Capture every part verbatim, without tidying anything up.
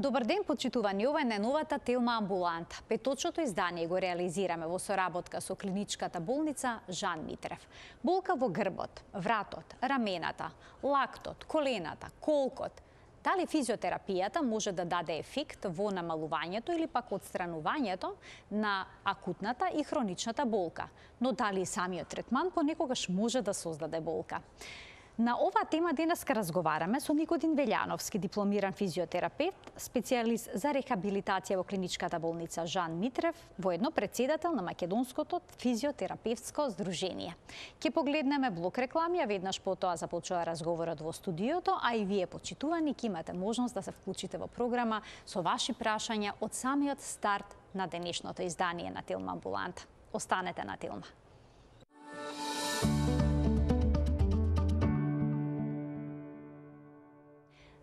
Добар ден, почитувани, ова е најновата Телма амбуланта. Петочното издание го реализираме во соработка со клиничката болница Жан Митрев. Болка во грбот, вратот, рамената, лактот, колената, колкот. Дали физиотерапијата може да даде ефект во намалувањето или пак отстранувањето на акутната и хроничната болка, но дали самиот третман понекогаш може да создаде болка? На оваа тема денеска разговараме со Никодин Велјановски, дипломиран физиотерапевт, специјалист за рехабилитација во клиничката болница Жан Митрев, воедно председател на Македонското физиотерапевтско здружение. Ке погледнеме блок реклами, а веднаш потоа започува разговорот во студиото, а и вие, почитувани, ке имате можност да се вклучите во програма со ваши прашања од самиот старт на денешното издание на Телма амбуланта. Останете на Телма.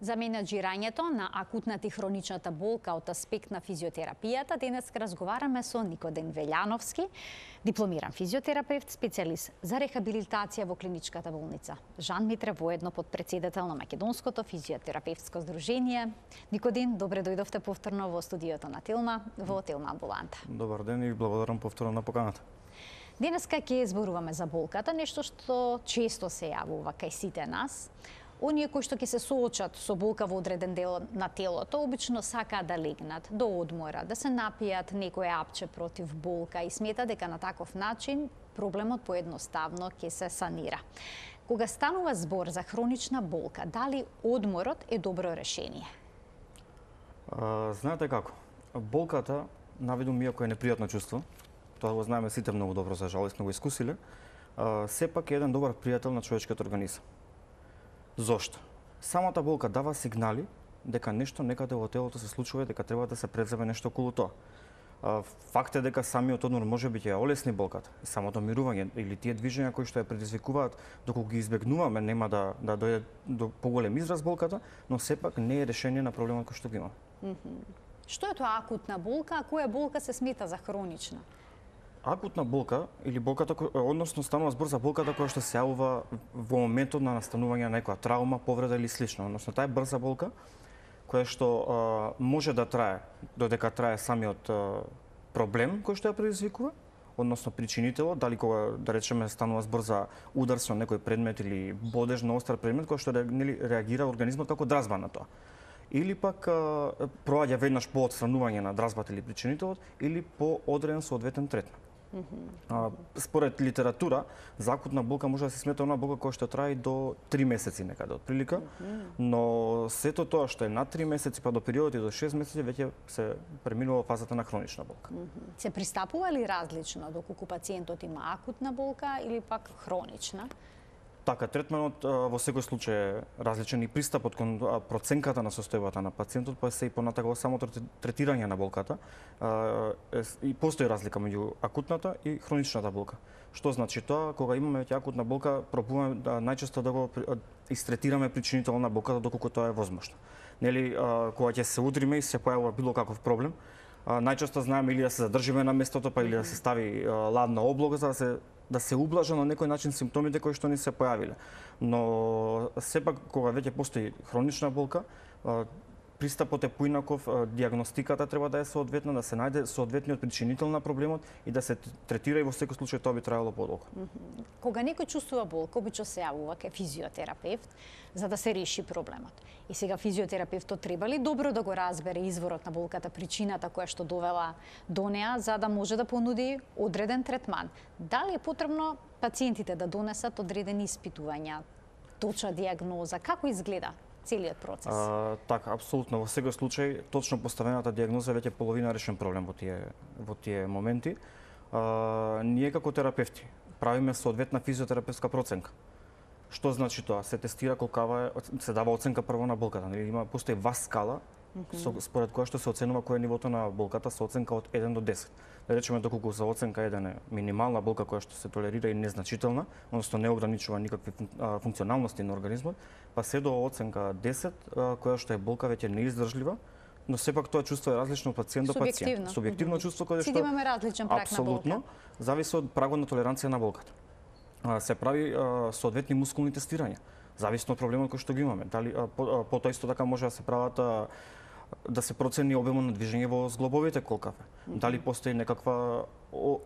За менаџирањето на акутната и хроничната болка од аспект на физиотерапијата, денес разговараме со Никодин Велјановски, дипломиран физиотерапевт, специјалист за рехабилитација во клиничката болница Жан Митрев, воедно подпредседател на Македонското физиотерапевтско здружение. Никодин, добре дојдовте повторно во студиото на Телма, во Телма амбуланта. Добар ден и благодарам повторно на поканата. Денеска ќе зборуваме за болката, нешто што често се јавува кај сите нас. Оние кои што ќе се соочат со болка во одреден дел на телото, обично сакаат да легнат, до одмора, да се напијат некое апче против болка и смета дека на таков начин проблемот поедноставно ќе се санира. Кога станува збор за хронична болка, дали одморот е добро решение? А, знаете како? Болката, наведум иако е непријатно чувство, тоа го знаеме сите многу добро, за жал, сме го искусиле, а, сепак е еден добар пријател на човечкиот организам. Зошто? Самата болка дава сигнали дека нешто некаде во телото се случува, дека треба да се преземе нешто околу тоа. Факт е дека самиот одмор може би ќе ја олесни болката, самото мирување или тие движења кои што ја предизвикуваат, доколку ги избегнуваме, нема да да дојде до поголем израз болката, но сепак не е решение на проблемот кој што го имаме. Mm-hmm. Што е тоа акутна болка, а која болка се смета за хронична? Акутна болка или болката, односно станува збор за болката која што се јавува во моментот на настанување на некоја травма, повреда или слично. Односно таа е брза болка која што а, може да трае додека трае самиот а, проблем кој што ја предизвикува, односно причинителот, дали кога да речеме станува збор за удар со некој предмет или бодеж на остар предмет кој што нели реагира организмот како дразба на тоа. Или пак а, проаѓа веднаш по отстранување на дразбата или причинителот или по одреден соодветен третман. Mm-hmm. Според литература, за акутна болка може да се смета она болка која што трае до три месеци некаде од прилика, mm-hmm. но сето тоа што е над три месеци па до периодот и до шест месеци веќе се преминува фазата на хронична болка. Mm-hmm. Се пристапува ли различно доколку пациентот има акутна болка или пак хронична? Така, третманот во секој случај е различен и пристапот кон проценката на состојбата на пациентот, па се и понатака во самото третирање на болката. И постои разлика меѓу акутната и хроничната болка. Што значи тоа? Кога имаме веќе акутна болка, пробуваме да најчесто да го истретираме причинителот на болката доколку тоа е возможно. Нели, кога ќе се удриме и се појавува било каков проблем, најчесто знаеме или да се задржиме на местото, па или да се стави ладна облога за да се да се ублажа на некој начин симптомите кои што ни се појавиле. Но сепак кога веќе постои хронична болка, пристапот е поинаков, дијагностиката треба да е соодветна, да се најде соодветниот причинител на проблемот и да се третира и во секој случај тоа би траело подолго. Mm-hmm. Кога некој чувствува болка, обично се јавува кај физиотерапевт за да се реши проблемот. И сега физиотерапевтот треба ли добро да го разбере изворот на болката, причината која што довела до неа, за да може да понуди одреден третман? Дали е потребно пациентите да донесат одредени испитувања, точна дијагноза, како изгледа целиот процес? А, така, апсолутно. Во секој случај, точно поставената дијагноза веќе половина решен проблем во тие во тие моменти. А, ние како терапевти правиме соодветна физиотерапевтска проценка. Што значи тоа? Се тестира колкава е, се дава оценка прво на болката. Има постои ВАС скала, mm-hmm. со, според која што се оценува кој е нивото на болката со оценка од еден до десет. Да речеме доколку за оценка еден е минимална болка која што се толерира и незначителна, односно не ограничува никакви функционалности на организмот, па се до оценка десет, која што е болка веќе неиздржлива, но сепак тоа чувство е различно од пациент до пациент. Субјективно mm-hmm. чувство кое што Сите имаме различен праг на болка. Апсолутно, зависи од прагот на толеранција на болката. Се прави соодветни мускулни тестирања, зависно од проблемот кој што го имаме. Дали по, по тоа исто така може да се прават да се процени обемот на движење во зглобовите колкав е. Mm -hmm. Дали постои некаква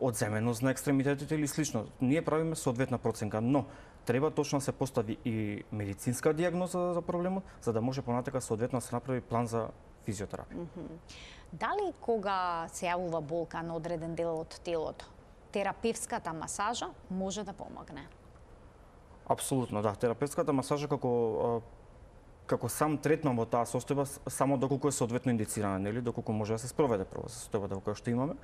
одземеност на екстремитетите или слично. Ние правиме соодветна проценка, но треба точно да се постави и медицинска дијагноза за проблемот, за да може понатака соодветно да се направи план за физиотерапија. Mm -hmm. Дали кога се јавува болка на одреден дел од телото, терапевската масажа може да помогне? Апсолутно, да. Терапевската масажа како како сам третман во таа состојба, само доколку е соодветно индицирана, нели, доколку може да се спроведе прво состојбата во која што имаме.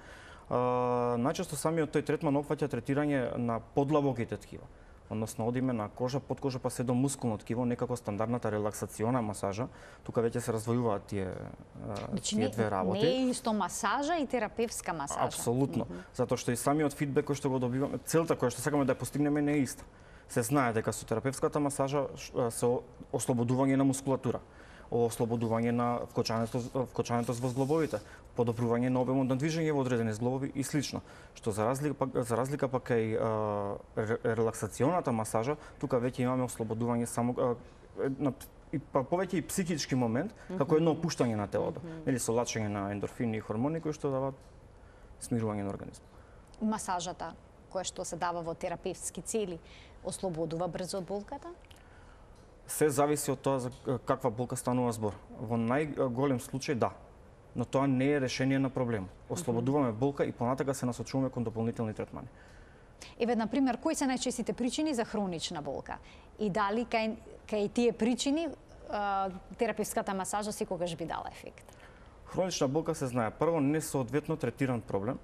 А, најчесто самиот тој третман опфаќа третирање на подлабоките ткива. Односно одиме на кожа, подкожа па се до мускулно ткиво, некако стандардната релаксациона масажа. Тука веќе се развојуваат тие, значи, тие две работи. Не е исто масажа и терапевска масажа. Апсолутно, mm -hmm. затоа што и самиот фидбек кој што го добиваме, целта која што сакаме да ја постигнеме не е иста. Се знае дека со терапевската масажа се ослободување на мускулатура, ослободување на вкочањето вкочањето во зглобовите, подобрување на обемот на движење во одредени зглобови и слично. Што за разлика за разлика пак кај релаксационата масажа, тука веќе имаме ослободување само на и па повеќе и психички момент, mm -hmm. како едно опуштање на телото, mm -hmm. или со лачење на ендорфини и хормони кои што даваат смирување на организмот. Масажата која што се дава во терапевски цели ослободува брзо од болката? Се зависи од тоа за каква болка станува збор. Во најголем случај да, но тоа не е решение на проблемот. Ослободуваме болка и понатака се насочуваме кон дополнителни третмани. Еве, на пример, кои се најчестите причини за хронична болка? И дали кај, кај тие причини терапевската масажа секогаш би дала ефект? Хронична болка се знае прво несоодветно третиран проблем,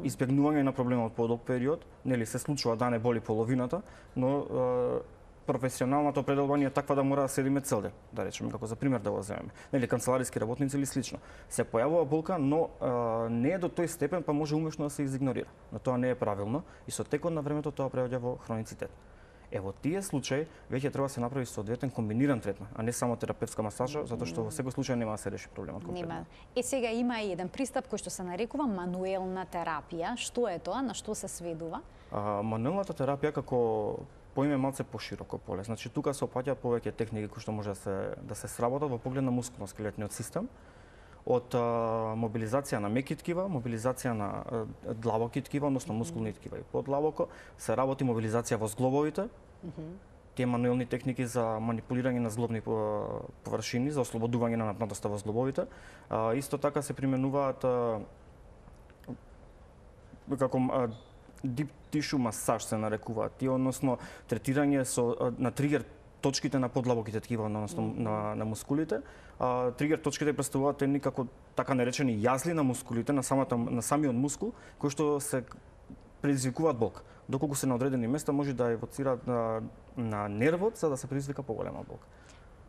избегнување на проблемот по долг период, нели се случува да не боли половината, но е, професионалната определба е таква да мора да седиме цел ден, да речеме, како за пример да го земеме. Нели канцелариски работници или слично. Се појавува болка, но е, не е до тој степен, па може умешно да се изигнорира. Но тоа не е правилно и со текот на времето тоа преоѓа во хроницитет. Е, во тие случаи веќе треба да се направи соодветен комбиниран третман, а не само терапевтска масажа, затоа што во секој случај нема да се реши проблемот. Нема. Е, сега има и еден пристап кој што се нарекува мануелна терапија. Што е тоа? На што се сведува? А, мануелната терапија како поиме малце пошироко поле. Значи тука се опаѓа повеќе техники кои што може да се да се сработат во поглед на мускулно-скелетниот систем. Од а, мобилизација на меки ткива, мобилизација на а, длабоки ткива, односно мускулни ткива и подлабоко, се работи мобилизација во зглобовите, mm -hmm. тие мануелни техники за манипулирање на зглобни површини, за ослободување на напнатоста во зглобовите. А, исто така се применуваат а, како а, deep tissue масаж се нарекуваат, тие, односно третирање со а, на тригер точките на подлабоките ткива, односно mm -hmm. на, на мускулите. А, тригер точките претставуваат едни како така наречени јазли на мускулите, на самата на самиот мускул, кои што се предизвикуваат болка. Доколку се на одредени места може да евоцираат на, на нервот за да се предизвика поголема болка.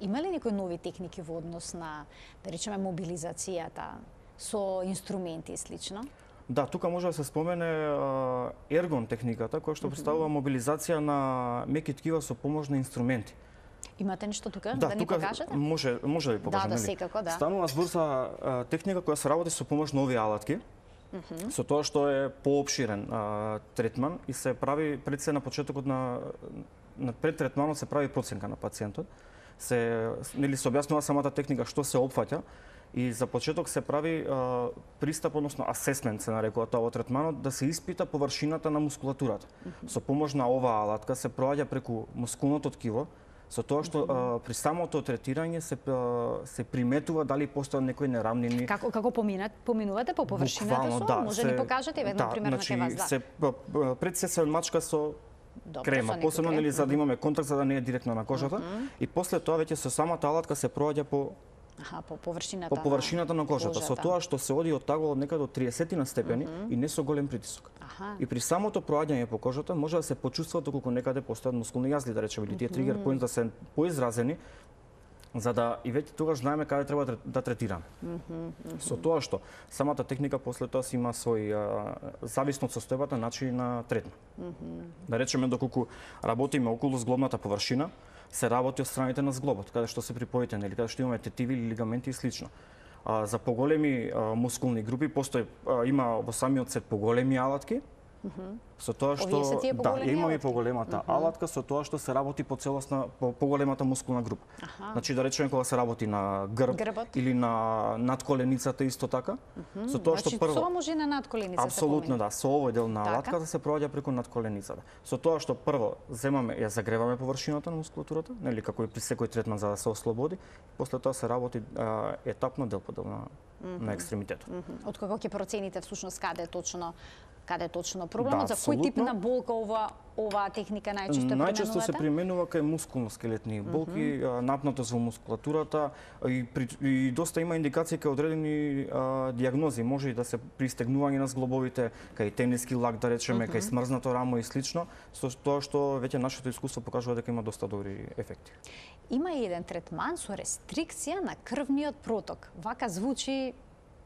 Има ли некои нови техники во однос на, да речеме, мобилизацијата со инструменти и слично? Да, тука може да се спомене а, ергон техниката, која што представува мобилизација на меки ткива со помош на инструменти. Имате нешто тука да, да ни тука покажете? Може, може да ви покажам, да, да, нели? секако, да. Станува збор за а, техника која се работи со помош на овие алатки. Mm -hmm. Со тоа што е поопширен а, третман и се прави пред се на почетокот на на пред третманот се прави проценка на пациентот. Се нели се објаснува самата техника што се опфаќа и за почеток се прави а, пристап, односно асесмент се нарекува тоа во третманот, да се испита површината на мускулатурата. Mm -hmm. Со помош на оваа алатка се проаѓа преку мускулното ткиво, со тоа што mm -hmm. а, при самото третирање се а, се приметува дали постојат некои неравнини. Како како поминат поминувате по површината со? Да, може се, ни покажете еден да, пример значи, на вас, да. Се пред се се мачка со Добре, крема, со посебно крем. нели за да имаме контакт за да не е директно на кожата mm -hmm. и после тоа веќе со самата алатка се проаѓа по Аха, по површината, по површината на, на кожата, кожата. со тоа што се оди од тагол од некаде до триесет на степени mm -hmm. и не со голем притисок. Аха. И при самото проаѓање по кожата може да се почувствува доколку некаде постојат мускулни јазли, да речеме, или тие тригер поинт да се поизразени, за да и веќе тогаш знаеме каде треба да третираме. Mm -hmm. Со тоа што самата техника после тоа си има свој а, зависно од состојбата начин на третман. Mm -hmm. Да речеме доколку работиме околу зглобната површина, се работи од страните на зглобот, каде што се припоите, нели, каде што имаме тетиви или лигаменти и слично. А, за поголеми а, мускулни групи постои а, има во самиот сет поголеми алатки Со тоа што Овие се тие да, поголеми имаме алатки? поголемата алатка со тоа што се работи по целосна по поголемата мускулна група. Аха. Значи да речеме кога се работи на грб Грбот. или на надколеницата исто така, со тоа што Значи, прво со може и на надколеницата. апсолутно да, со овој дел на Така. алатката се проаѓа преку надколеницата. Со тоа што прво земаме, ја загреваме површината на мускулатурата, нели како и при секој третман за да се ослободи, после тоа се работи а, етапно дел по дел на, на екстремитетот. Од кога ќе процените всушност каде е точно каде е точно проблемот, Да, за кој тип апсолутно. на болка ова оваа техника најчесто е Најчесто се применувате? применува кај мускулно-скелетни болки, а, напнатост во мускулатурата и, при, и доста има индикации кај одредени а, дијагнози. Може и да се при стегнување на зглобовите, кај тениски лак да речеме, кај смрзнато рамо и слично, со тоа што веќе нашето искуство покажува дека има доста добри ефекти. Има и еден третман со рестрикција на крвниот проток. Вака звучи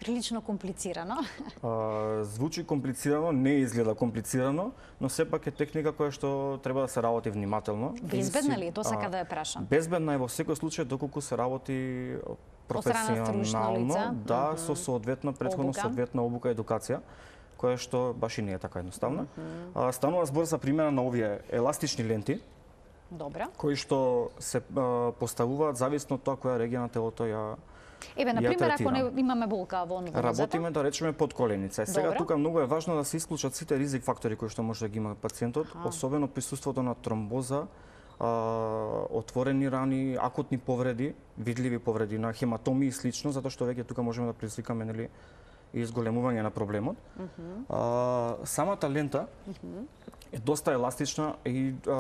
прилично комплицирано. А, звучи комплицирано, не изгледа комплицирано, но сепак е техника која што треба да се работи внимателно. Безбедна И си- ли е? Тоа сака а, да ја прашам. Безбедна е во секој случај доколку се работи страна стручно лице. професионално, да, со соодветна претходно Обука. соодветна обука и едукација, која што баш и не е така едноставна. А, станува збор за примена на овие еластични ленти, Добра. кои што се а, поставуваат зависно од тоа која регија на телото ја Еве, на ја пример, ако третирам. не имаме болка во нозата, Работиме да речеме под коленица. Е, Сега Добро. тука многу е важно да се исклучат сите ризик фактори кои што може да ги има пациентот, особено присуството на тромбоза, а, отворени рани, акутни повреди, видливи повреди на хематоми и слично, затоа што веќе тука можеме да предизвикаме нели и изголемување на проблемот. А, самата лента е доста еластична и а,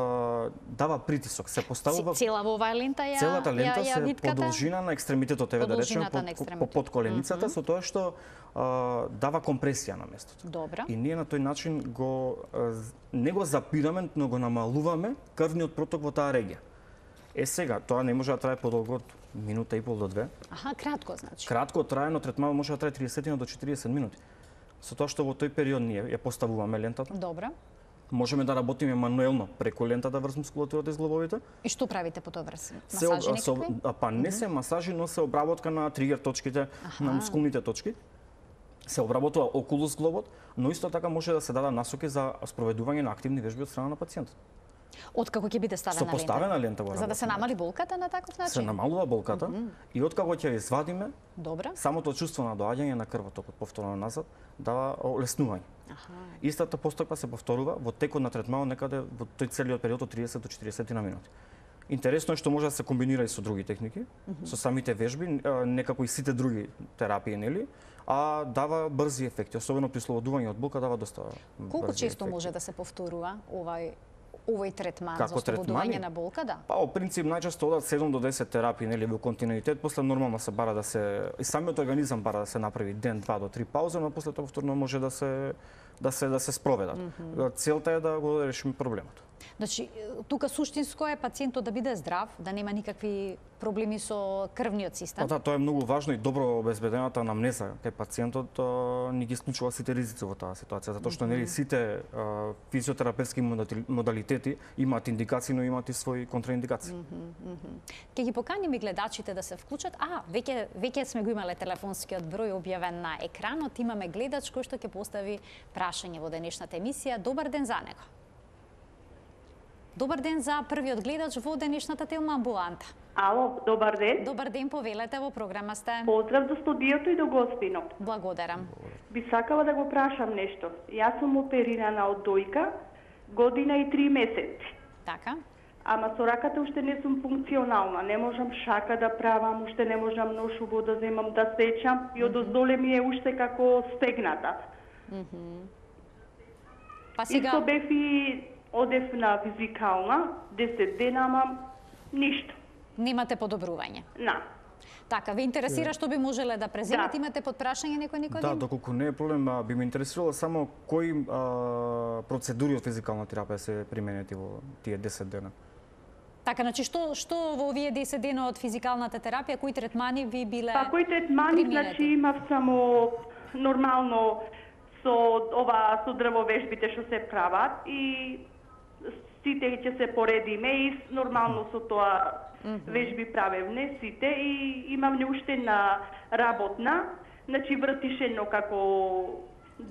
дава притисок. Се поставува цела во оваа лента ја целата лента ја, ја се виткате? по должина на екстремитетот, еве да речеме, По должината на по, по, екстремитет. по подколеницата, со тоа што а, дава компресија на местото. Добра. И ние на тој начин го а, з- не го запираме, но го намалуваме крвниот проток во таа регија. Е сега, тоа не може да трае подолго од минута и пол до две. Аха, кратко значи. Кратко траено третман може да трае триесет до четириесет минути. Со тоа што во тој период ние ја поставуваме лентата, Добра. можеме да работиме мануелно преку лентата врз мускулатурата и зглобовите. И што правите по тоа врз? Се Масажи об- се об- некакви? а, па не се масажи, но се обработка на тригер точките, на мускулните точки. Се обработува околу зглобот, но исто така може да се даде насоки за спроведување на активни вежби од страна на пациентот. Откако ќе биде ставена Со лента? поставена лента го За да се работиме. намали болката на таков начин? Се намалува болката и откако ќе ја извадиме, Добра. самото чувство на доаѓање на крвотокот повторно назад дава олеснување. Истата постапка се повторува во текот на третманот некаде во тој целиот период од триесет до четириесет на минути. Интересно е што може да се комбинира и со други техники, со самите вежби, а, некако и сите други терапии, нели? А дава брзи ефекти, особено при слободување од болка дава доста Колку брзи често ефекти. може да се повторува овај овој третман Како за ослободување третмани? на болка, да? Па, во принцип, најчесто одат седум до десет терапии, нели, во континуитет, после нормално се бара да се и самиот организам бара да се направи ден, два до три пауза, но после тоа повторно може да се да се да се спроведат. Целта е да го решиме проблемот. Значи, тука суштинско е пациентот да биде здрав, да нема никакви проблеми со крвниот Па систем. да, тоа е многу важно и добро обезбедената анамнеза кај пациентот а, ни ги исклучува сите ризици во таа ситуација, затоа што нели сите а, физиотерапевтски модали- модалитети имаат индикации, но имаат и своји контраиндикации. Ќе ги поканим и гледачите да се вклучат. А, веќе веќе сме го имале телефонскиот број објавен на екранот. Имаме гледач кој што ќе постави прашање во денешната емисија. Добар ден за него. Добар ден за првиот гледач во денешната Телма амбуланта. Ало, добар ден. Добар ден, повелете, во програма сте. Поздрав до студиото и до гостинот. Благодарам. Би сакала да го прашам нешто. Јас сум оперирана од дојка, година и три месеци. Така. Ама со раката уште не сум функционална. Не можам шака да правам, уште не можам ношубо да земам да сечам и од оздоле ми е уште како стегната. Па Исто сега, бев и одев на физикална, десет дена, ама ништо. немате подобрување. На. Така, ве интересира што би можеле да преземете? Да. Имате под прашање некој никој? Да, доколку не е проблем, а, би ме интересирало само кои а, процедури од физикална терапија се применети во тие десет дена. Така, значи што што во овие десет дена од физикалната терапија, кои третмани ви биле? Па кои третмани, применети? значи имав само нормално со ова со дрвовежбите што се прават и сите ќе се поредиме и нормално со тоа вежби правевне сите и имам не уште на работна, значи вртишено како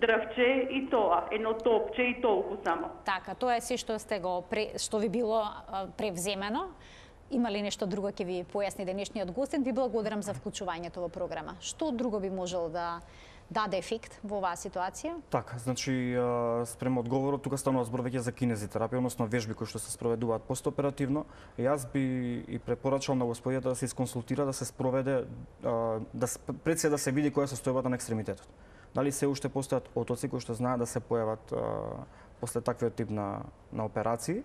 дрвче и тоа, едно топче и толку само. Така, тоа е се што сте го пре, што ви било а, превземено. Има ли нешто друго ќе ви појасни денешниот гостин? Ви благодарам за вклучувањето во програма. Што друго би можело да даде ефект во оваа ситуација? Така, значи спрема одговорот тука станува збор веќе за кинезитерапија, односно вежби кои што се спроведуваат постоперативно. Јас би и препорачал на господијата да се исконсултира, да се спроведе, да пред се да се види која е состојбата на екстремитетот. Дали се уште постојат отоци кои што знаат да се појават после таквиот тип на на операции,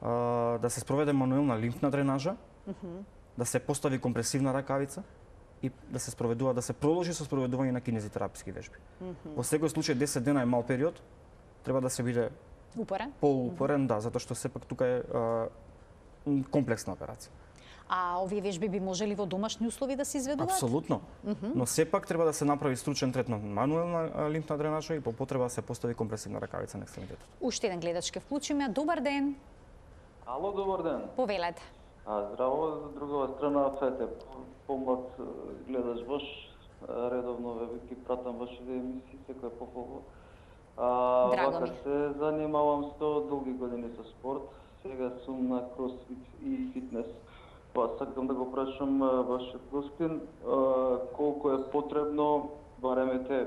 да се спроведе мануелна лимфна дренажа, mm -hmm. да се постави компресивна ракавица и да се спроведува, да се продолжи со спроведување на кинезитераписки вежби. Mm -hmm. Во секој случај десет дена е мал период, треба да се биде упорен, поупорен, mm -hmm. да, затоа што сепак тука е а, комплексна операција. А овие вежби би можели во домашни услови да се изведуваат? Апсолутно. Mm -hmm. Но сепак треба да се направи стручен третман мануелна лимфна дренажа и по потреба да се постави компресивна ракавица на екстремитетот. Уште еден гледач ке вклучиме. Добар ден. Ало, добар ден. Повелете. А, здраво, за другава страна, фете, помлад гледаш ваш, редовно ве ги пратам вашите емисии, секој пополно. Драго ми. се занимавам со долги години со спорт, сега сум на кросфит и фитнес. Па сакам да го прашам вашиот гостин, колку е потребно, баремете,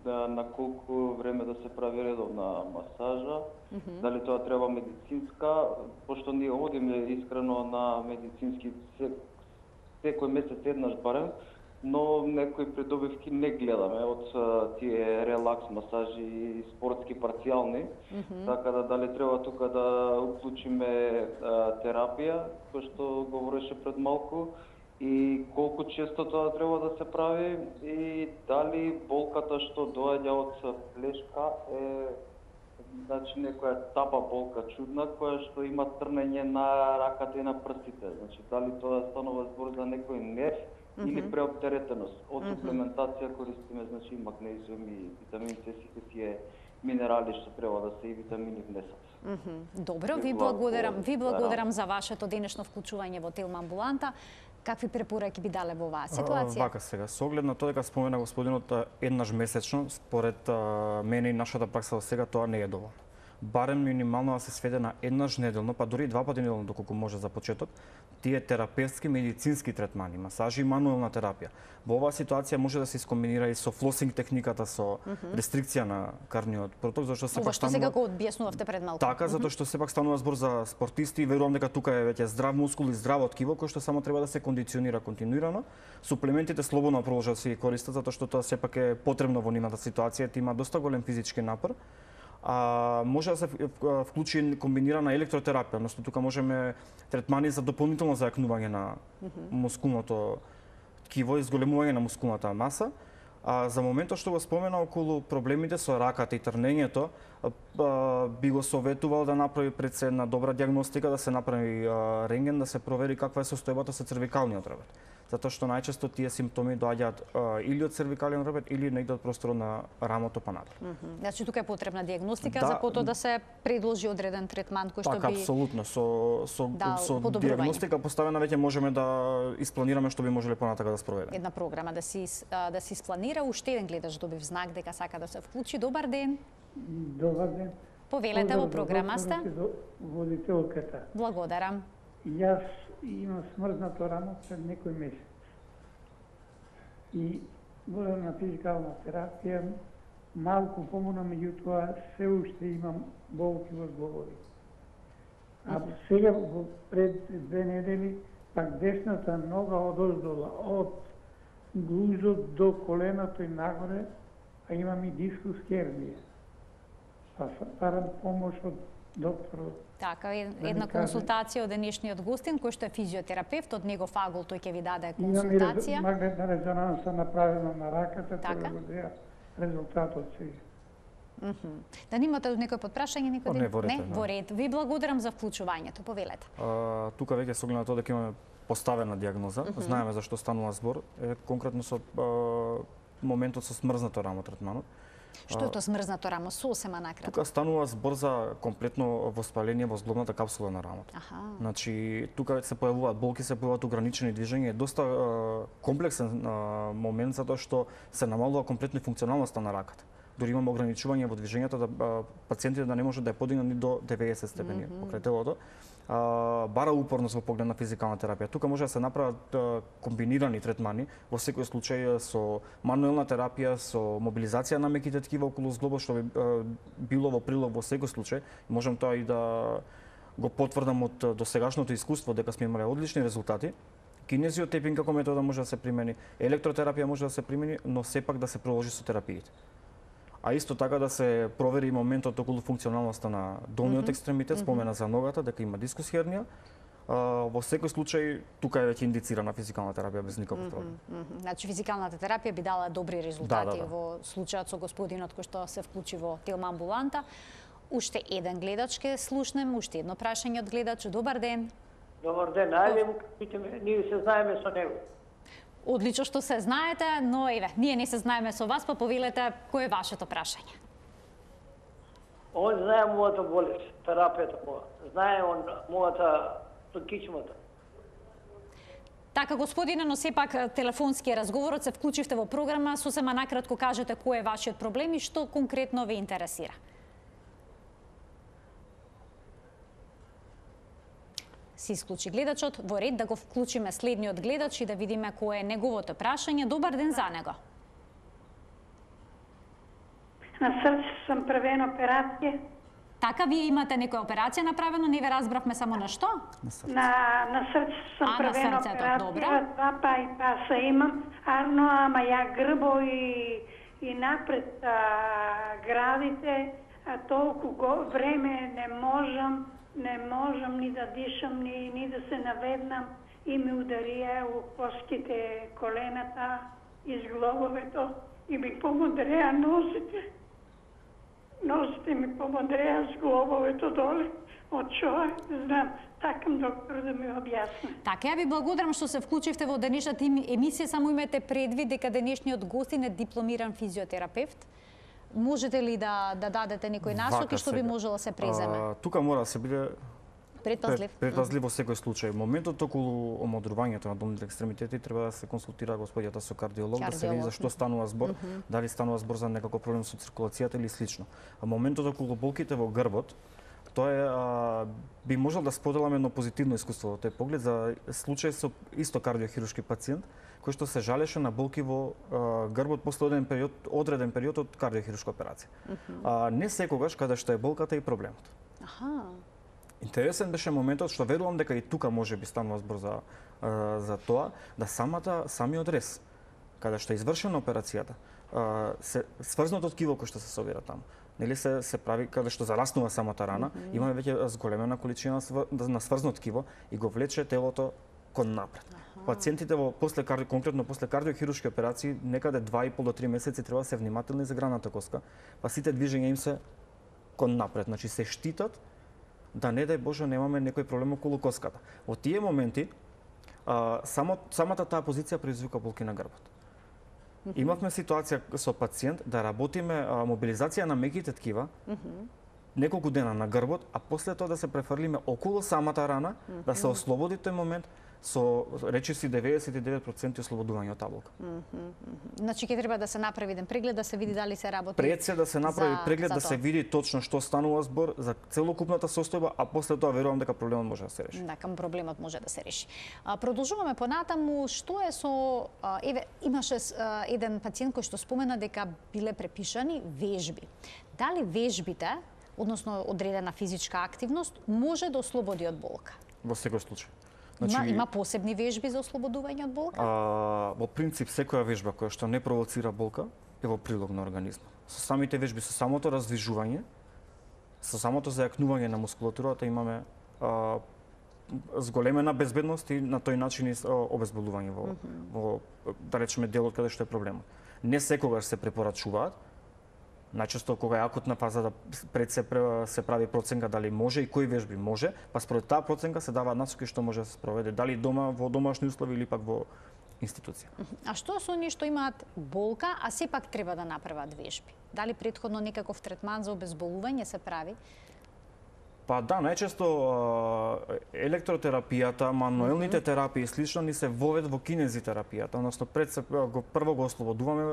да, на колку време да се прави редовна масажа, mm -hmm. дали тоа треба медицинска, пошто ние одиме искрено на медицински секој месец еднаш барем, но некои придобивки не гледаме од тие релакс масажи и спортски парцијални, mm -hmm. така да дали треба тука да уклучиме терапија, кој што говореше пред малку, и колку често тоа треба да се прави и дали болката што доаѓа од плешка е значи некоја тапа болка чудна која што има трнење на раката и на прстите. Значи дали тоа станува збор за некој нерв mm -hmm. или преоптеретеност. Од mm -hmm. суплементација користиме значи магнезиум и витамин С, сите тие минерали што треба да се и витамини внесат. Mm -hmm. Добро, ви благодарам, ви благодарам за вашето денешно вклучување во Телма амбуланта. Какви препораки би дале во оваа ситуација? Вака сега, со оглед на тоа дека спомена господинот еднаш месечно, според а, мене и нашата пракса до сега тоа не е доволно. Барем минимално да се сведе на еднаш неделно, па дури два пати неделно доколку може за почеток, тие терапевтски медицински третмани, масажи и мануелна терапија. Во оваа ситуација може да се искомбинира и со флосинг техниката, со mm -hmm. рестрикција на карниот проток, зашто се пак станува... сега го објаснувавте пред малку. Така, затоа што сепак станува збор за спортисти и верувам дека тука е веќе здрав мускул и здраво ткиво кој што само треба да се кондиционира континуирано. Суплементите слободно продолжат да се ги користат затоа што тоа сепак е потребно во нивната ситуација, ти има доста голем физички напор. А, може да се вклучи комбинирана електротерапија, односно тука можеме третмани за дополнително зајакнување на mm -hmm. мускулното ткиво и зголемување на мускулната маса. А за моментот што го спомена околу проблемите со раката и трнењето, а, би го советувал да направи пред се една добра диагностика, да се направи а, рентген, да се провери каква е состојбата со цервикалниот ребет. Затоа што најчесто тие симптоми доаѓаат или од цервикален ребет или негде од просторот на рамото па надолу. Mm -hmm. Значи тука е потребна диагностика да, за потоа да се предложи одреден третман кој што така, би апсолутно со со да, со диагностика поставена веќе можеме да испланираме што би можеле понатака да спроведеме. Една програма да се да се испланира. Уште еден гледач добив знак дека сака да се вклучи. Добар ден. Добар ден. Повелете во програмаста. Водителката. Благодарам. Јас имам смрзнато рамо пред некој месец. И водам на физикална терапија, малку помина, меѓутоа се уште имам болки во зглобови. А сега пред две недели пак десната нога одоздола, од глузот до коленото и нагоре, а имам и дискус хернија. Па барам помош од докторот. Така, една консултација од денешниот гостин, кој што е физиотерапевт, од негов агол тој ќе ви даде консултација. Имам и магнетна резонанса направена на раката, така? Тоа го деа резултатот сега. Mm -hmm. Да немате некој подпрашање, некој не, во ред, не, во ред. Ви благодарам за вклучувањето, повелете. А, тука веќе со оглед на тоа дека имаме поставена диагноза, mm -hmm. знаеме за што станува збор, е конкретно со а, моментот со смрзнато рамо третманот. Што е тоа смрзнато рамо? Сосема накратко. Тука станува збор за комплетно воспаление во зглобната капсула на рамото. Аха. Значи, тука се појавуваат болки, се појавуваат ограничени движења, е доста а, комплексен а, момент затоа што се намалува комплетно функционалноста на раката. дури имаме ограничување во движењето да а, пациентите да не можат да ја подигнат ни до деветдесет степени mm -hmm. покрај телото. А, бара упорност во поглед на физикална терапија. Тука може да се направат а, комбинирани третмани, во секој случај со мануелна терапија, со мобилизација на меките ткива околу зглобот, што би а, било во прилог во секој случај. Можам тоа и да го потврдам од досегашното искуство дека сме имале одлични резултати. Кинезиотепинг како метода може да се примени, електротерапија може да се примени, но сепак да се продолжи со терапиите. А исто така да се провери моментот околу функционалноста на долниот mm -hmm. екстремитет, спомена за ногата, дека има дискус хернија. Uh, во секој случај, тука е веќе индицирана физикална терапија без никаков проблем. Mm -hmm. Значи, физикалната терапија би дала добри резултати да, да, да. во случајот со господинот кој што се вклучи во Телма амбуланта. Уште еден гледач ке слушнем, уште едно прашање од гледач. Добар ден. Добар ден, ајде му кажете, ние се знаеме со него. Одлично што се знаете, но еве, ние не се знаеме со вас, па повелете кој е вашето прашање. Он знае мојата болест, терапијата моја. Знае он мојата кичмата. Така, господине, но сепак телефонски разговорот, се вклучивте во програма, сосема накратко кажете кој е вашиот проблем и што конкретно ве интересира. Се исклучи гледачот, во ред да го вклучиме следниот гледач и да видиме кој е неговото прашање. Добар ден за него. На срце сум правена операција. Така, вие имате некоја операција направено, не ве разбравме само на што? На, на срце сум а, правена срцето, операција, добра. два па и паса имам, арно, ама ја грбо и, и напред а, градите, а толку го, време не можам, не можам ни да дишам, ни, ни да се наведнам и ми ударија у коските, колената, из глобовето и ми помодреа носите. Носите ми помодреа с глобовето доле. Од чој, знам, такам доктор да ми објасни. Така, ја ви благодарам што се вклучивте во денешната емисија, само имате предвид дека денешниот гостин е дипломиран физиотерапевт. Можете ли да, да дадете некој насоки што би можело да се преземе? А, тука мора да се биде предпазлив. Предпазлив во секој случај. Моментот околу омодрувањето на долните екстремитети треба да се консултира господјата со кардиолог, кардиолог. Да се види за што станува збор, mm -hmm. дали станува збор за некако проблем со циркулацијата или слично. А моментот околу болките во грбот, тоа е, а, би можел да споделам едно позитивно искуство во тој поглед за случај со исто кардиохируршки пациент кој што се жалеше на болки во а, грбот после одреден период, одреден период од кардиохируршка операција. Mm -hmm. А не секогаш каде што е болката и проблемот. Аха. Интересен беше моментот што верувам дека и тука може би станува збор за а, за тоа да самата самиот рез каде што е извршена операцијата, а, се сврзнато ткиво кој што се собира таму. Нели се се прави каде што зараснува самата рана, mm -hmm. имаме веќе зголемена количина на сврзно ткиво и го влече телото кон напред. Аха. Пациентите во после карди, конкретно после кардиохируршки операции некаде два и пол до три месеци треба да се внимателни за граната коска, па сите движења им се кон напред, значи се штитат да не дај Боже немаме некој проблем околу коската. Во тие моменти а, само самата таа позиција предизвика болки на грбот. Mm -hmm. Имавме ситуација со пациент да работиме а, мобилизација на меките ткива, mm -hmm. неколку дена на грбот, а после тоа да се префрлиме околу самата рана, mm -hmm. да се ослободи тој момент со речиси деветдесет и девет проценти ослободување од таблока. Mm -hmm. Значи ќе треба да се направи еден преглед да се види дали се работи. Пред се да се направи за, преглед за да се види точно што станува збор за целокупната состојба, а после тоа верувам дека проблемот може да се реши. Да, кам проблемот може да се реши. А, продолжуваме понатаму, што е со а, еве имаше а, еден пациент кој што спомена дека биле препишани вежби. Дали вежбите, односно одредена физичка активност, може да ослободи од болка? Во секој случај. Значи, има, има посебни вежби за ослободување од болка? А, во принцип, секоја вежба која што не провоцира болка е во прилог на организмот. Со самите вежби, со самото раздвижување, со самото зајакнување на мускулатурата имаме а, зголемена безбедност и на тој начин и обезболување во, mm -hmm. во, да речеме, делот каде што е проблемот. Не секогаш се препорачуваат, најчесто кога е акутна фаза да пред се се прави проценка дали може и кои вежби може, па според таа проценка се даваат насоки што може да се спроведе, дали дома во домашни услови или пак во институција. А што со оние што имаат болка, а сепак треба да направат вежби? Дали претходно некаков третман за обезболување се прави? Па да, најчесто електротерапијата, мануелните терапии и слично ни се вовед во кинезитерапијата, односно пред се го прво го ослободуваме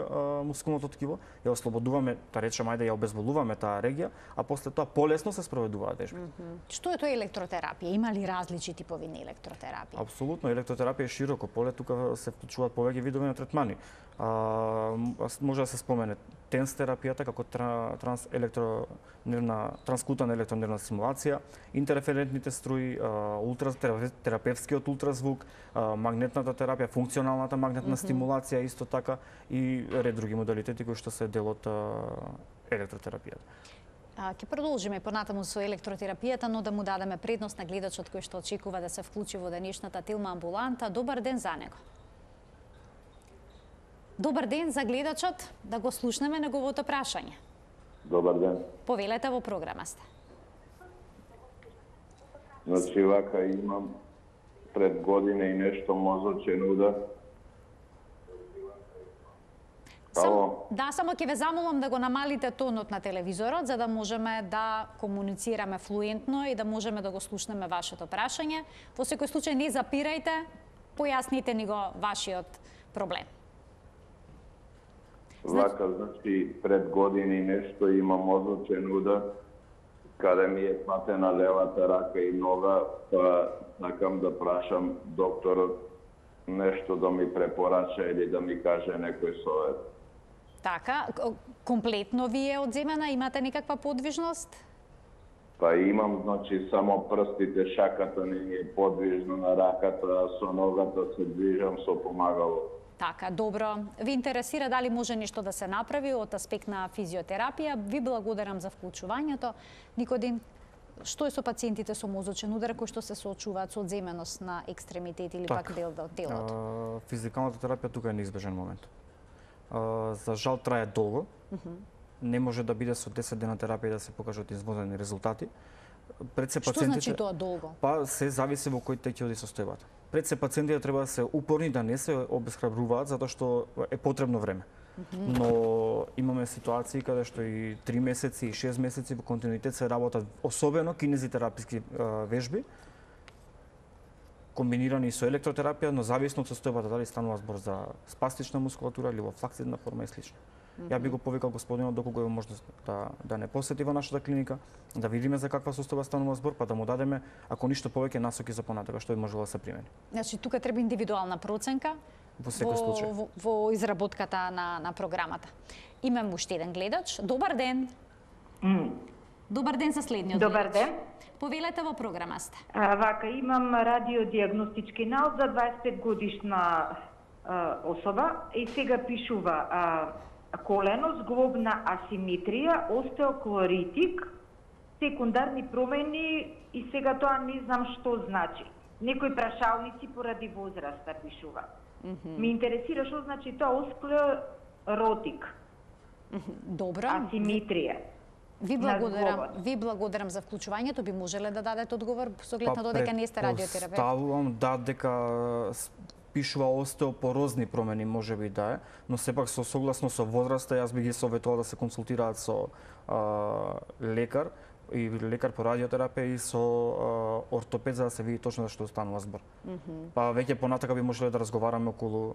мускулното ткиво, ја ослободуваме, да речеме, ајде ја обезболуваме таа регија, а после тоа полесно се спроведуваат вежбите. Mm -hmm. Што е тоа електротерапија? Има ли различни типови на електротерапија? Апсолутно, електротерапија е широко поле, тука се вклучуваат повеќе видови на третмани. А, може да се спомене тенс терапијата како транс електронервна транскутана електронервна стимулација, интерферентните струи, ултра терапевскиот ултразвук, магнетната терапија, функционалната магнетна mm -hmm. стимулација исто така и ред други модалитети кои што се дел од електротерапијата. Ќе продолжиме понатаму со електротерапијата, но да му дадеме предност на гледачот кој што очекува да се вклучи во денешната Телма амбуланта. Добар ден за него. Добар ден за гледачот, да го слушнеме неговото прашање. Добар ден. Повелете, во програма сте. Значи, вака имам пред година и нешто мозочен удар. Сам, да, само ќе ве замолам да го намалите тонот на телевизорот, за да можеме да комуницираме флуентно и да можеме да го слушнеме вашето прашање. Во секој случај не запирајте, појасните ни го вашиот проблем. Вака, значи, пред години нешто има мозочен удар, каде ми е патена левата рака и нога, па сакам да прашам докторот нешто да ми препорача или да ми каже некој совет. Така, комплетно ви е одземена, имате никаква подвижност? Па имам, значи, само прстите, шаката не е подвижна на раката, а со ногата се движам со помагало. Така, добро. Ви интересира дали може нешто да се направи од аспект на физиотерапија? Ви благодарам за вклучувањето. Никодин, што е со пациентите со мозочен удар кои што се соочуваат со одземеност на екстремитет или так, пак дел од телото? А, физикалната терапија тука е неизбежен момент. А, за жал трае долго. Uh -huh. Не може да биде со десет дена терапија да се покажат изводени резултати. Пред се пациентите, што значи тоа долго? Па се зависи во кој тек ќе оди состојбата. Пред се пациентите треба да се упорни, да не се обесхрабруваат затоа што е потребно време. Uh -huh. Но имаме ситуации каде што и три месеци и шест месеци во континуитет се работат особено кинезитераписки вежби комбинирани со електротерапија, но зависно од состојбата дали станува збор за спастична мускулатура или во флаксидна форма и слично. Mm -hmm. Ја би го повикал господинот доколку има можност да да не посети во нашата клиника, да видиме за каква состојба станува збор, па да му дадеме ако ништо повеќе насоки за понатака што би можело да се примени. Значи тука треба индивидуална проценка во секој случај во, во изработката на на програмата. Имам уште еден гледач. Добар ден. Mm. Добар ден за следниот. Добар гледач. ден. Повелете, во програма сте. А, вака, имам радиодиагностички наод за дваесет и пет годишна а, особа и сега пишува а, колено, зглобна асиметрија, остеоклоритик, секундарни промени и сега тоа не знам што значи. Некои прашалници поради возраста пишува. Mm -hmm. Ми интересира што значи тоа осклеротик. Mm -hmm. Добро. Асиметрија. Ви благодарам, ви благодарам за вклучувањето. Би можеле да дадете одговор со оглед на додека не сте радиотерапевт? Ставувам да дека пишува остеопорозни промени, може би да е, но сепак со согласно со возраста, јас би ги советувал да се консултираат со а, лекар и лекар по радиотерапија и со а, ортопед за да се види точно за што станува збор. Mm -hmm. Па веќе понатака би можеле да разговараме околу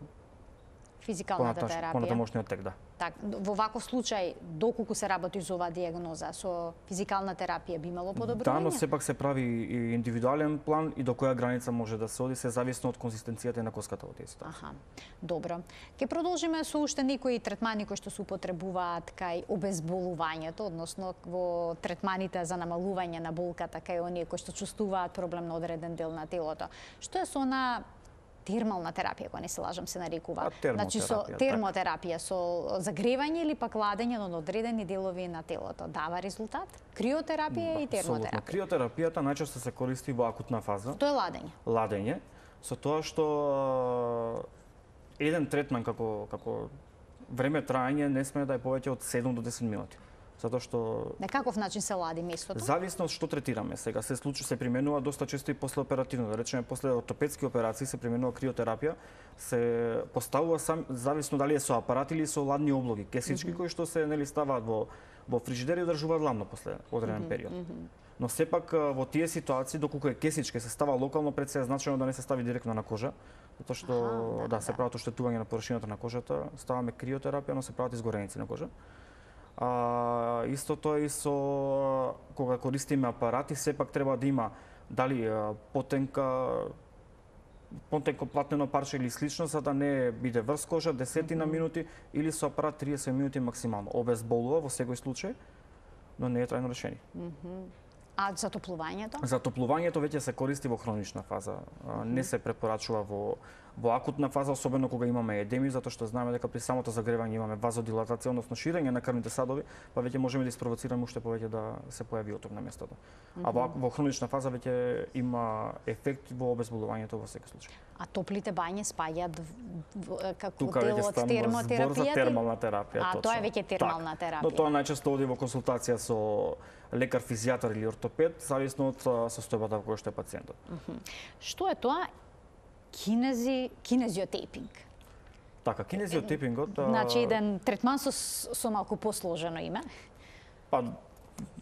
физикалната терапија. Понатамошниот тек, да. Так, во ваков случај, доколку се работи за оваа диагноза, со физикална терапија би имало подобрување? Да, но сепак се прави и индивидуален план и до која граница може да се оди, се зависно од конзистенцијата и на коската во тие ситуации. Аха, добро. Ке продолжиме со уште некои третмани кои што се употребуваат кај обезболувањето, односно во третманите за намалување на болката кај оние кои што чувствуваат проблем на одреден дел на телото. Што е со она термална терапија, кога не се лажам, се нарекува. Значи со термотерапија, со загревање или пак ладење на одредени делови на телото. Дава резултат? Криотерапија да, и термотерапија. Криотерапијата најчесто се користи во акутна фаза. Тоа е ладење. Ладење, со тоа што еден третман како како време траење не сме да е повеќе од седум до десет минути. Затоа што на каков начин се лади местото? Зависно од што третираме сега. Се случи се применува доста често и после оперативно, да речеме после ортопедски операции се применува криотерапија, се поставува сам зависно дали е со апарат или со ладни облоги, кесички mm -hmm. кои што се нели ставаат во во фрижидер и одржуваат ладно после одреден mm -hmm. период. Mm -hmm. Но сепак во тие ситуации доколку е кесичка се става локално, пред се е значено да не се стави директно на кожа, затоа што Аха, да, да, се прават оштетување на површината на кожата, ставаме криотерапија, но се прават изгореници на кожа. А, истото е и со кога користиме апарати, сепак треба да има дали потенка потенко платнено парче или слично, за да не биде врз кожа, десетина mm -hmm. минути или со апарат триесет минути максимално. Обезболува во секој случај, но не е трајно решение. Mm -hmm. А затоплувањето? Затоплувањето веќе се користи во хронична фаза. Mm -hmm. Не се препорачува во во акутна фаза, особено кога имаме едеми, затоа што знаеме дека при самото загревање имаме вазодилатација, односно ширење на крвните садови, па веќе можеме да испровоцираме уште повеќе да се појави оток на местото. Mm -hmm. А во, во хронична фаза веќе има ефект во обезболувањето во секој случај. А топлите бањи спаѓаат како Тука дел од термотерапијата? Збор за термална терапија, а, точно. тоа е веќе термална так. терапија. Но тоа најчесто оди во консултација со лекар, физијатар или ортопед, зависно од состојбата во која што е пациентот. Mm -hmm. Што е тоа? Кинези, кинезиотейпинг. Така, кинезиотейпингот... Значи, еден третман со, со малку посложено име? Па,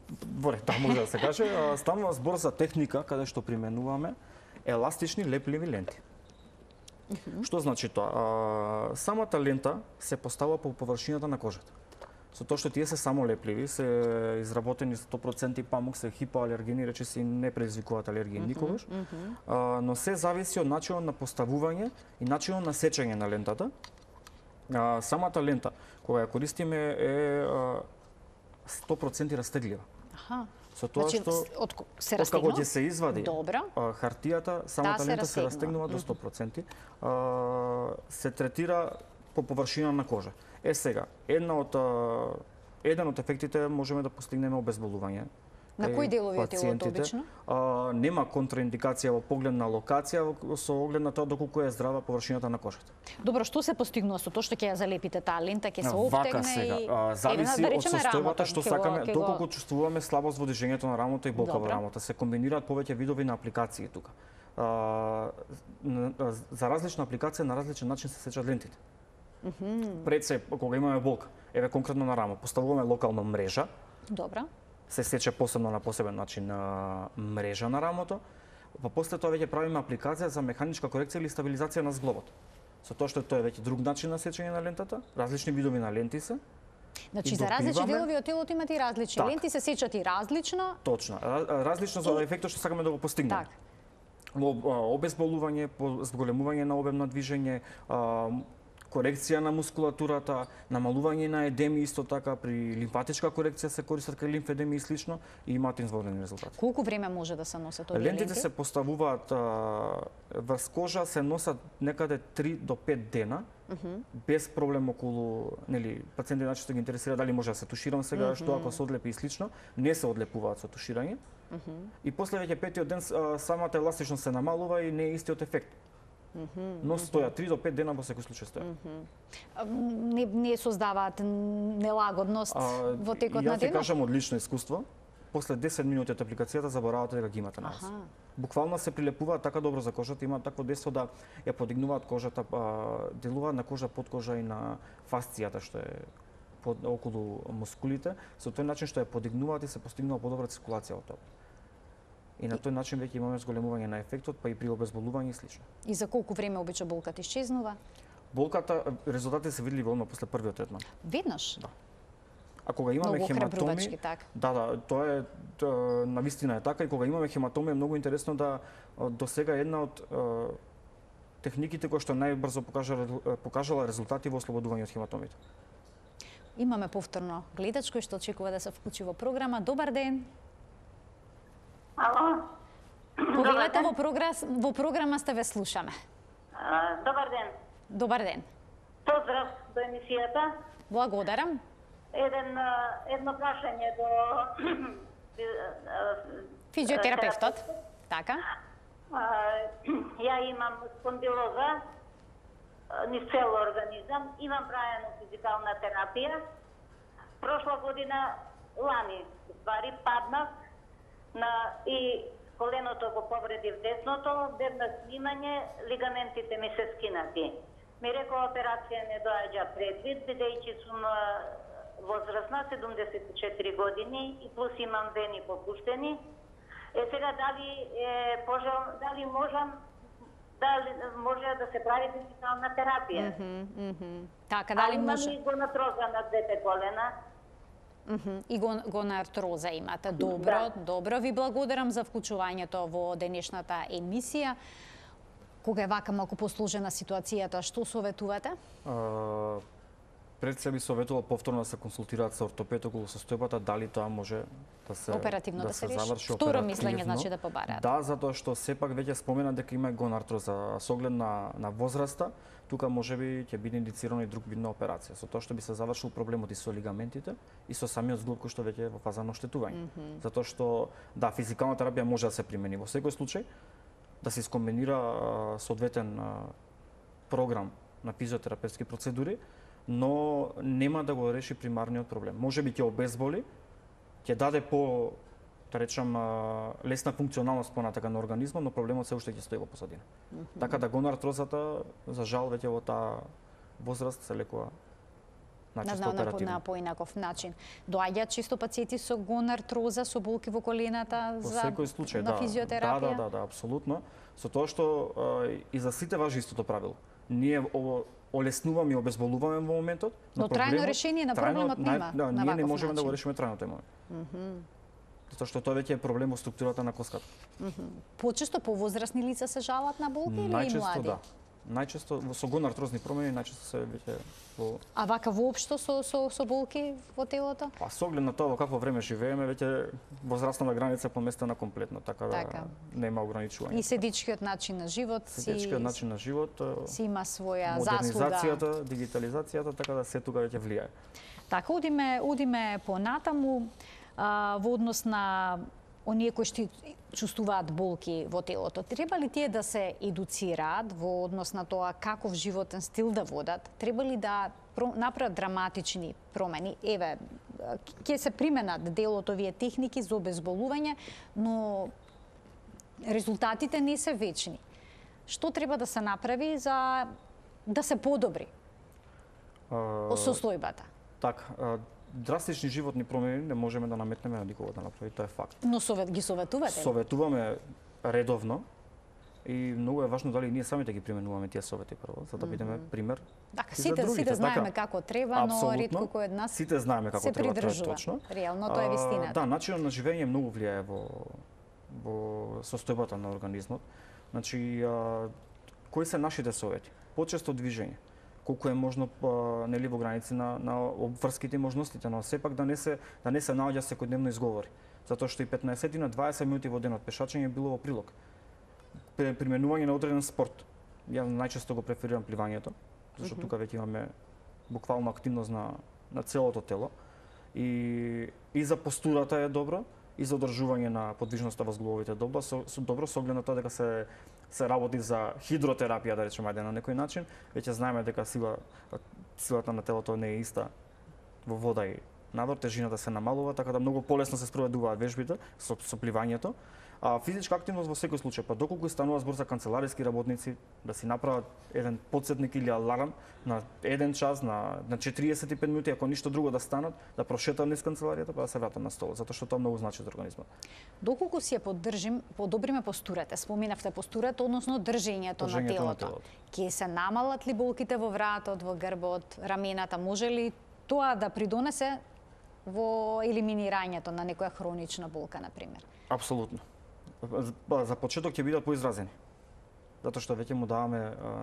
добре, да, може да се каже. Станува збор за техника каде што применуваме еластични лепливи ленти. Uh -huh. Што значи тоа? Самата лента се поставува по површината на кожата. Со тоа што тие се само лепливи, се изработени сто проценти памук, се хипоалергени, речиси не предизвикуваат алергија mm -hmm, никогаш, mm -hmm. а, но се зависи од начинот на поставување и начинот на сечење на лентата. А, самата лента, кога ја користиме, е а, сто проценти растеглива. Аха. Со тоа значи, што од се растегнува? Откако ќе се извади Добра. А, хартијата, самата да, лента се се растегнува до сто проценти. А, се третира по површина на кожа. Е сега, една од еден од ефектите можеме да постигнеме обезболување. На кои делови од телото обично? А, нема контраиндикација во поглед на локација со оглед на тоа доколку е здрава површината на кожата. Добро, што се постигнува со тоа што ќе ја залепите таа лента, ќе се офтегне Вака сега, и а, зависи да од состојбата што сакаме, го... доколку чувствуваме слабост во движењето на рамото и болка во рамото. Се комбинираат повеќе видови на апликации тука. А, за различна апликација на различен начин се сечат лентите. Mm -hmm. Пред се, кога имаме болка, еве конкретно на рамо, поставуваме локално мрежа. Добра. Се сече посебно на посебен начин на мрежа на рамото. Па после тоа веќе правиме апликација за механичка корекција или стабилизација на зглобот. Со тоа што тоа е веќе друг начин на сечење на лентата, различни видови на ленти се. Значи за различни делови од телото имате и различни так. ленти, се сечат и различно. Точно, различно за ефектот што сакаме да го постигнеме. Так. Обезболување, зголемување на обем на движење, корекција на мускулатурата, намалување на едеми исто така, при лимфатичка корекција се користат кај лимфедеми и слично и имаат изворени резултати. Колку време може да се носат овие ленти? Лентите се поставуваат врз кожа, се носат некаде три до пет дена, uh -huh. без проблем околу, нели, пациенти најчесто ги интересира дали може да се туширам сега, uh -huh. што ако се одлепи и слично, не се одлепуваат со туширање. Uh -huh. И после веќе петиот ден самата еластичност се намалува и не е истиот ефект. Mm -hmm, но стоја три до пет дена во секој случај стоја. Mm -hmm. Не, не создаваат нелагодност а, во текот на денот? Ја ќе кажам од лично искуство, после десет минути од апликацијата заборавате дека ги имате на вас. Буквално се прилепуваат така добро за кожата, имаат такво дејство да ја подигнуваат кожата, делуваат на кожа, под кожа и на фасцијата што е под, околу мускулите, со тој начин што ја подигнуваат и се постигнува подобра циркулација од тоа. И на тој начин веќе имаме зголемување на ефектот, па и при обезболување и слично. И за колку време обично болката исчезнува? Болката, резултатите се видливи одма после првиот третман. Веднаш? Да. А кога имаме многу хематоми, так. да, да, тоа е тоа, навистина е така, и кога имаме хематоми е многу интересно да до сега една од е, техниките која што најбрзо покажала, покажала резултати во ослободување од хематомите. Имаме повторно гледач кој што очекува да се вклучи во програма. Добар ден. Ало. Повелете во програма, во програма сте, ве слушаме. А, добар ден. Добар ден. Поздрав до емисијата. Благодарам. Еден едно прашање до физиотерапевтот. Така. А, ја имам спондилоза низ цел организам, имам прајано физикална терапија. Прошла година лани, ствари паднав на и коленото го повредив десното, дебна снимање, лигаментите ми се скинати. Ми рекол операција не доаѓа предвид, бидејќи сум возрастна, седумдесет и четири години и плюс имам вени попуштени Е сега дали е пожел, дали можам дали може да се прави физикална терапија? Mm -hmm, mm -hmm. Така, дали може? Имам и гонартроза на двете колена. Mm -hmm. И гон, гонартроза имате. Добро, да. Добро. Ви благодарам за вклучувањето во денешната емисија. Кога е вака малку посложена ситуацијата, што советувате? Uh... Пред се би советувал повторно да се консултираат со ортопед околу состојбата, дали тоа може да се оперативно да, да се, се реши. заврши Второ оперативно. мислење значи да побараат. Да, затоа што сепак веќе спомена дека има гонартроза, со оглед на на возраста, тука можеби ќе биде индицирано и друг вид на операција, со тоа што би се завршил проблемот и со лигаментите и со самиот зглоб кој што веќе е во фаза на оштетување. Mm -hmm. Затоа што да, физикална терапија може да се примени во секој случај, да се искомбинира соодветен програм на физиотерапевтски процедури, но нема да го реши примарниот проблем. Може би ќе обезболи, ќе даде по, да речам, лесна функционалност понатака на организмот, но проблемот се уште ќе стои во позадина. Mm -hmm. Така да гонартрозата, за жал, веќе во таа возраст се лекува начисто оперативно. На поинаков начин. Доаѓаат чисто пациенти со гонартроза, со болки во колената за секој случај, на да, физиотерапија? Да, да, да, да, апсолутно. Со тоа што и за сите важи истото правило. Ние ово олеснуваме и обезболуваме во моментот, но, но трајно решение на проблемот трајно, нема. Да, на ние не можеме начин. да го решиме трајно тој момент. Mm -hmm. Затоа што тоа веќе е проблем во структурата на коската. Mm -hmm. Почесто повозрасни лица се жалат на болки или најчесто, и млади? Да. Најчесто со гонартрозни промени најчесто се веќе во А вака воопшто со со со болки во телото? Па со оглед на тоа во какво време живееме, веќе возрастната граница поместена комплетно, така, така. да нема ограничување. И седичкиот начин на живот си Седичкиот начин на живот си има своја модернизацијата, заслуга. дигитализацијата, така да се тука веќе влијае. Така, одиме, одиме понатаму а, во однос на оние кои што чувствуваат болки во телото. Треба ли тие да се едуцираат во однос на тоа каков животен стил да водат? Треба ли да направат драматични промени? Еве, ќе се применат дел од овие техники за обезболување, но резултатите не се вечни. Што треба да се направи за да се подобри uh, состојбата? Така, драстични животни промени не можеме да наметнеме на никого да направи, тоа е факт. Но совет ги советувате? Советуваме редовно и многу е важно дали ние самите ги применуваме тие совети прво, за да бидеме пример. Така, сите, сите знаеме така, како треба, но ретко кој од нас сите знаеме како се треба, придржува. тоа е точно. Реално тоа е вистината. Да, начинот на живење многу влијае во во состојбата на организмот. Значи, а, кои се нашите совети? Почесто движење. Колку е можно нели во граници на на обврските и можностите, но сепак да не се да не се наоѓа секојдневно изговори. Затоа што и петнаесет на дваесет минути во денот пешачење било во прилог. Применување на одреден спорт. Ја најчесто го преферирам пливањето, зашто mm -hmm. тука веќе имаме буквално активност на на целото тело и и за постурата е добро, и за одржување на подвижноста во зглобовите добро, со, со добро со оглед на тоа дека се се работи за хидротерапија, да речеме, ајде на некој начин. Веќе знаеме дека сила силата на телото не е иста во вода и надвор, тежината се намалува, така да многу полесно се спроведуваат вежбите со, со пливањето. А физичка активност во секој случај, па доколку станува збор за канцелариски работници, да си направат еден потсетник или аларм на еден час, на, на четириесет и пет минути, ако ништо друго да станат, да прошетат низ канцеларијата, па да се вратат на столот, затоа што тоа многу значи за организмот. Доколку си ја поддржим, подобриме постурата, споминавте постурата, односно држењето, држењето на телото. На телото. Ке се намалат ли болките во вратот, во грбот, рамената, може ли тоа да придонесе во елиминирањето на некоја хронична болка, на пример? Апсолутно. За почеток ќе бидат поизразени. Затоа што веќе му даваме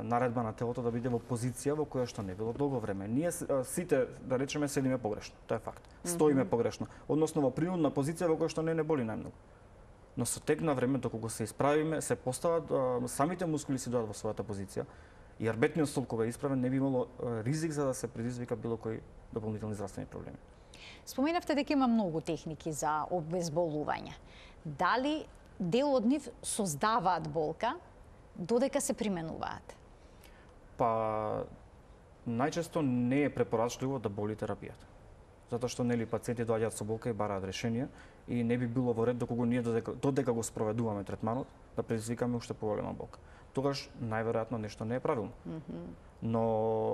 наредба на телото да биде во позиција во која што не било долго време. Ние сите, да речеме, седиме погрешно. Тоа е факт. Стоиме mm -hmm. погрешно. Односно во принудна позиција во која што не не боли најмногу. Но со тек на време, докога се исправиме, се постават, самите мускули си доаѓаат во својата позиција и арбетниот столб кога е исправен не би имало ризик за да се предизвика било кој дополнителни здравствени проблеми. Споменавте дека има многу техники за обезболување. Дали дел од нив создаваат болка додека се применуваат? Па најчесто не е препорачливо да боли терапијата. Затоа што нели пациенти доаѓаат со болка и бараат решение и не би било во ред доколку ние додека, додека го спроведуваме третманот да предизвикаме уште поголема болка. тогаш најверојатно нешто не е правилно. Но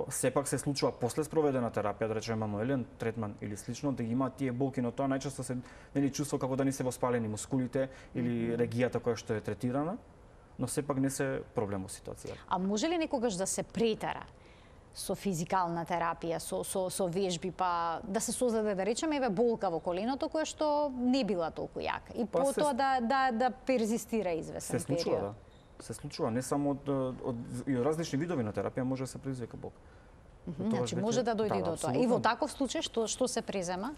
сепак се случува после спроведена терапија, да речеме мануелен третман или слично, да ги имаат тие болки, но тоа најчесто се нели чувство како да не се воспалени мускулите или регијата која што е третирана, но сепак не се проблем во ситуацијата. А може ли некогаш да се претера со физикална терапија, со со со вежби, па да се создаде, да речеме, еве болка во коленото која што не била толку јака и Па потоа се- да да да перзистира извесен Се случува, период? да. Се случува не само од, од и од различни видови на терапија може да се предизвика болка. Тогаш Значи веќе- може да дојде и да, до тоа. И апсолутно. во таков случај што што се презема?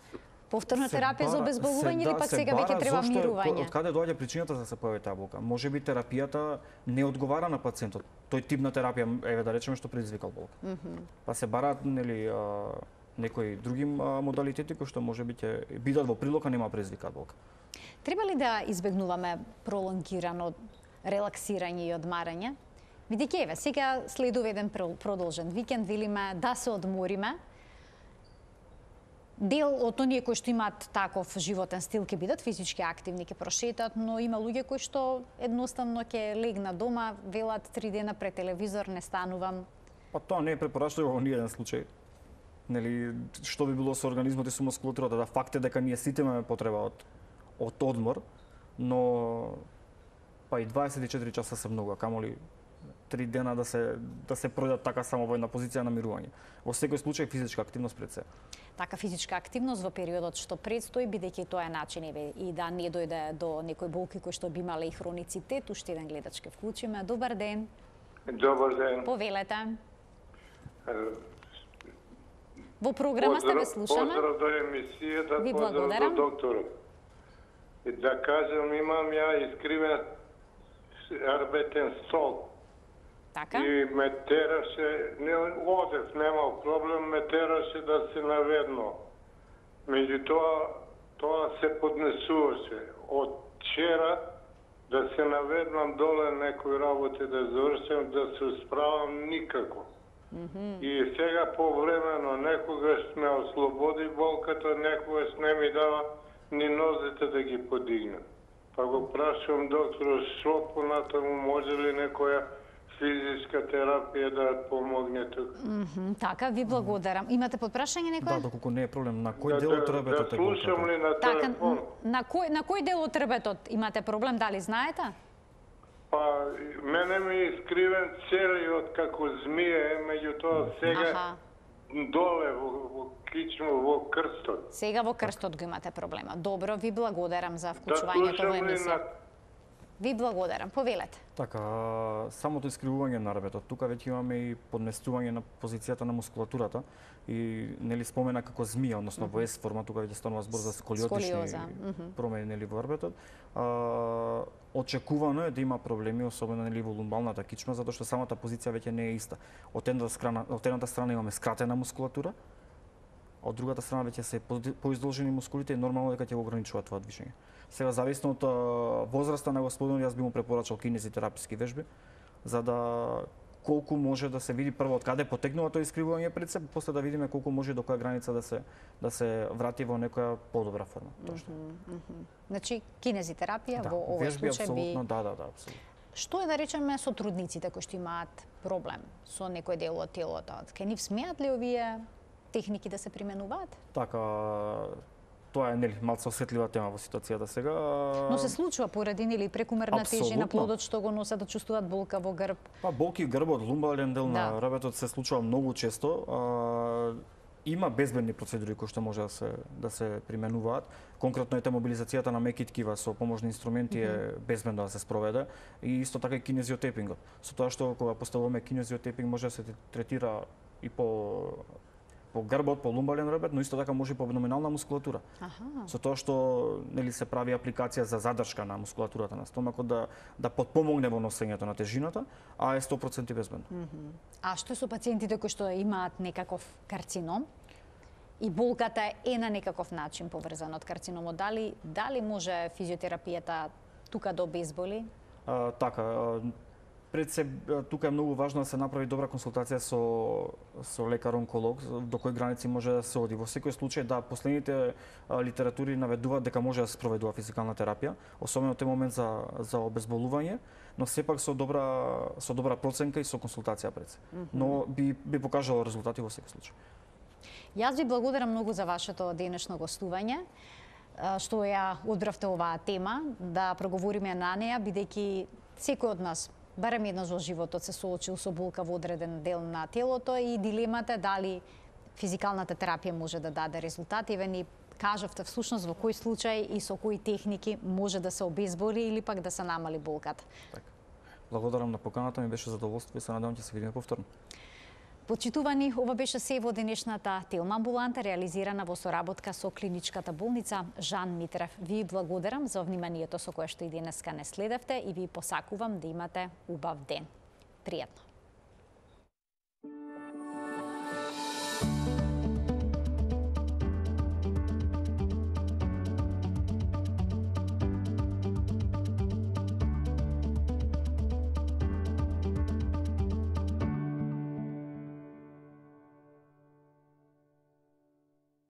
Повторна Се терапија за бара- обезболување се или да- пак се сега бара веќе треба зошто е- мирување? Од каде доаѓа причината за да се појави таа болка? Може би терапијата не одговара на пациентот. Тој тип на терапија, еве да речеме што предизвикал болка. Па се бараат нели а, некои други а, модалитети кои што може би ќе бидат во прилог, а нема предизвикаат болка. Треба ли да избегнуваме пролонгирано релаксирање и одмарање? Видејќи еве, сега следува еден пр- продолжен викенд, велиме да се одмориме. Дел од оние кои што имаат таков животен стил ќе бидат физички активни, ќе прошетат, но има луѓе кои што едноставно ќе легнат дома, велат три дена пред телевизор, не станувам. Па тоа не е препорачливо во ниеден случај. Нели што би било со организмот и со мускулатурата, да факт е дека ние сите имаме потреба од од одмор, но па и дваесет и четири часа се многу, а камоли три дена да се да се пројдат така само во една позиција на мирување. Во секој случај физичка активност пред се. Така физичка активност во периодот што предстои, бидејќи тоа е начин еве и да не дојде до некои болки кои што би имале и хроницитет. Уште еден гледач ке вклучиме. Добар ден. Добар ден. Повелете. Во програма сте, ве слушаме. Поздрав до емисијата, Ви поздрав благодарам. до докторот. И да кажем, имам ја искривен арбетен стол. Така? И ме тераше, не одев, немал проблем, ме тераше да се наведно. Меѓутоа, тоа се поднесуваше. Од вчера да се наведнам доле некои работи да завршам, да се справам никако. И сега повремено некогаш ме ослободи болката, некогаш не ми дава ни нозите да ги подигнат. Па го прашувам доктор, што понатаму може ли некоја физичка терапија да помогне тука? Мгм, така, ви благодарам. Имате подпрашање некој? Да, доколку не е проблем, на кој Да, дел од да, ребетот да е слушам болката? ли на Така, телефон? на кој на кој дел од трбетот имате проблем, дали знаете? Па, мене ми е искривен целиот како змија, меѓутоа сега Аха. доле во, во кичмо, во крстот. Сега во крстот го имате проблема. Добро, ви благодарам за Да вклучувањето во слушам ли емисија. на Ви благодарам. Повелете. Така, самото искривување на ребетот, тука веќе имаме и подместување на позицијата на мускулатурата и нели спомена како змија, односно во S форма, тука веќе станува збор за сколиотични Сколиоза, мгм. промени нели во ребетот. А, очекувано е да има проблеми, особено нели во лумбалната кичма, затоа што самата позиција веќе не е иста. Од едната страна, од едната страна имаме скратена мускулатура, а од другата страна веќе се поди- поиздолжени мускулите и нормално дека ќе го ограничува тоа движење. Сега зависно од а, возраста на господинот, јас би му препорачал кинезитераписки вежби, за да колку може да се види прво од каде потекнува тоа искривување пред се, после да видиме колку може до која граница да се да се врати во некоја подобра форма. Тоа што. Значи, кинезитерапија Да, во овој вежби случај би... апсолутно, да, да, да, апсолутно. Што е да речеме со трудниците кои што имаат проблем со некој дел од телото? Ке нив смеат ли овие техники да се применуваат? Така, тоа е нели малку осетлива тема во ситуацијата сега. Но се случува поради нели прекумерна тежина Апсолутно. плодот што го носат да чувствуваат болка во грб. Па болки грбот, лумбален дел на Да. ребетот се случува многу често. А, има безбедни процедури кои што може да се да се применуваат. Конкретно ете мобилизацијата на меки ткива со pomožни инструменти е безбедно да се спроведе и исто така и кинезиотепингот. Со тоа што кога поставуваме кинезиотепинг може да се третира и по по грбот, по лумбален ребет, но исто така може и по абдоминална мускулатура. Аха. Со тоа што нели се прави апликација за задршка на мускулатурата на стомакот да да потпомогне во носењето на тежината, а е сто проценти безбедно. А што со пациентите кои што имаат некаков карцином и болката е на некаков начин поврзана од карциномот, дали дали може физиотерапијата тука да обезболи? А, така, а, Пред се тука е многу важно да се направи добра консултација со со лекар-онколог, до кои граници може да се оди. Во секој случај, да, последните литератури наведуваат дека може да се спроведува физикална терапија, особено тој момент за за обезболување, но сепак со добра со добра проценка и со консултација пред се. Но би би покажало резултати во секој случај. Јас ви благодарам многу за вашето денешно гостување, што ја одбравте оваа тема, да проговориме на неа, бидејќи секој од нас барем еднаш во животот се соочил со болка во одреден дел на телото и дилемата дали физикалната терапија може да даде резултати. Ве ни кажавте всушност во кој случај и со кои техники може да се обезболи или пак да се намали болката. Така. Благодарам на поканата, ми беше задоволство и се надевам ќе се видиме повторно. Почитувани, ова беше се во денешната Телма амбуланта, реализирана во соработка со клиничката болница Жан Митрев. Ви благодарам за вниманието со кое што и денеска не следевте и ви посакувам да имате убав ден. Пријатно!